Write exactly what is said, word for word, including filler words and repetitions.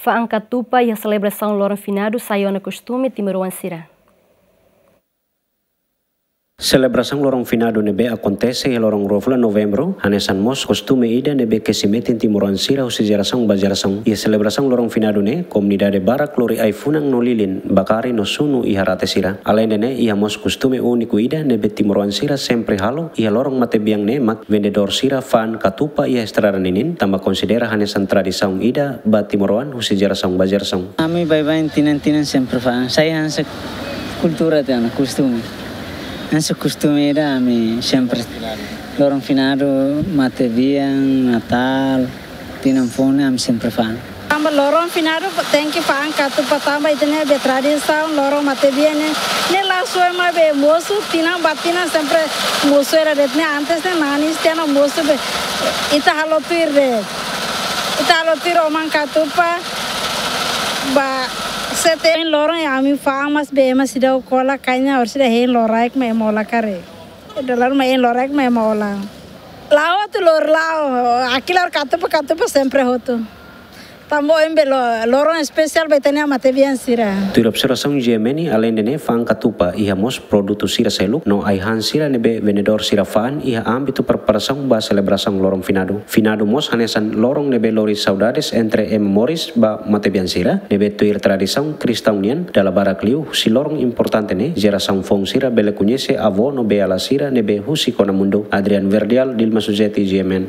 Fa'an katupa iha selebrasaun loron finadu sai ona kostume timoroan sira. Selebrasaun loron finadu ne'ebé akontese iha loron rua fulan Novembru, hanesan mós kostume ida ne'ebé kesi metin timoroan sira husi jerasaun ba jerasaun. Iha selebrasaun loron finadu ne'e, komunidade barak lori ai-funan no lilin, ba kari no sunu iha rate sira. Aleinde ne'e, iha mós kostume úniku ida ne'ebé timoroan sira sempre halo iha loron matebian ne'e mak vendedór sira fa'an katupa iha estrada ninin, tanba konsidera hanesan tradisaun ida ba timoroan husi jerasaun ba jerasaun. Ami baibain tinan-tinan sempre fa'an. Sai hanesan kultura tiha ona, kostume. Hanesan kostume ida ami sempre. Loron finadu, matebian, Natál, tinan foun ne'e ami sempre fa'an. Tanba loron finadu tenke fa'an katupa tanba ita-nia be tradisaun loron matebian ne'e, ne'e la sue mai be mosu, tinan ba tinan sempre mosu hela de'it ne'e, antes ne'e nanis tiha ona mosu be ita halo tuir de'it. Ita halo tuir oman katupa ba sete loron ne'e ami fa'an mas be ema seidauk hola, kainha orsida hein loraik mak ema hola karik. Ida loron mak hein loraik mak ema hola. La'o atu lori la'o, aki la'o katupa, katupa sempre hotu. Tanba ohin be lo-, loron espesiál ba ita-nia matebian sira. Tuir observasaun G M N, aleinde ne'e fa'an katupa, iha mós produtu sira seluk no ai-han sira ne'ebé vendedór sira fa'an iha ámbitu preparasaun ba selebrasaun loron finadu. Finadu mós hanesan loron ne'ebé lori saudades entre ema moris ba matebian sira, ne'ebé tuir tradisaun kristaun nian, dala barak liu husi loron importante ne'e, jerasaun foun sira bele koñese avó no bei-ala sira ne'ebé husik ona mundu. Adrian Verdial, Dilma Suzeti, G M N.